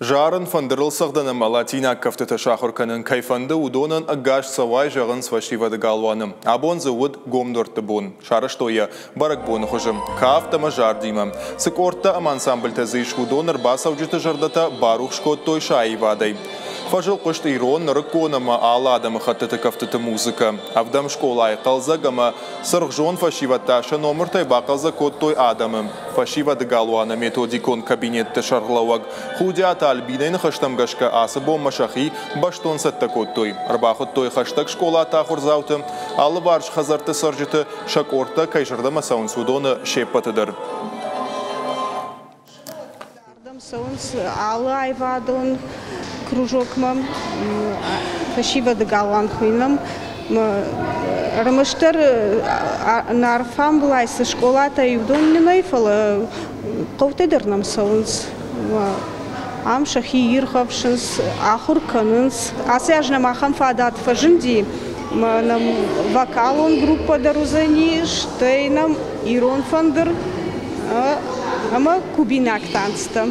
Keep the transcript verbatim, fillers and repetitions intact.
Зарын, фӕндырыл цӕгъдын ӕмӕ латинаг кӕфтытӕ сахуыр кӕнын кӕй фӕнды, уыдонӕн ӕгас цӕуай зӕгъынц фӕсивӕды галуаны. Абон дзы уыд гом дуӕртты бон. Сарӕзтой йӕ бӕрӕгбоны хуызы, кафт ӕмӕ зардимӕ. Цы къордтӕ ӕмӕ ансамбльтӕ дзы ис, уыдон ӕрбацӕуджыты зӕрдӕтӕ барухс кодтой сӕ аивадӕй. Фӕзыл хъуыст ирон, нырыккон ӕмӕ алы адӕмыхӕттыты кӕфтыты музыкӕ. Ӕвдӕм скъолайы хъӕлдзӕг ӕмӕ цыргъзонд фӕсивӕд та сӕ номыртӕй бахъӕлдзӕг кодтой адӕмы. Фӕсивӕды галуаны методикон кабинетты сӕргълӕууӕг Худиаты Альбинайы ныхӕстӕм гӕсгӕ ацы бонмӕ сӕхи бӕстон цӕттӕ кодтой. Ӕрбахуыдтой хӕстӕг скъолаты ахуырдзауты, алыварс хӕдзӕртты цӕрджыты, сӕ къордтӕ кӕй зӕрдӕмӕ цӕуынц, уыдоны се ппӕты дӕр. Ардӕм цӕуынц алы аивадон кружокмӕ, фӕсивӕды галуан хуыйнӕм. Ӕрмӕстдӕр нӕ алфамбылай цы скъолатӕ уыдон нӕй, фӕлӕ хъӕутӕ дӕр нӕм цӕуынц. Ам сӕхи ирхӕфсынц, ахуыр кӕнынц. Ацы аз нӕм ахӕм фадат фӕзынди, ӕмӕ нӕм вокалон группӕ дӕр уыдзӕни, стӕй нӕм ирон фӕндыр ӕмӕ кубинаг танцтӕ.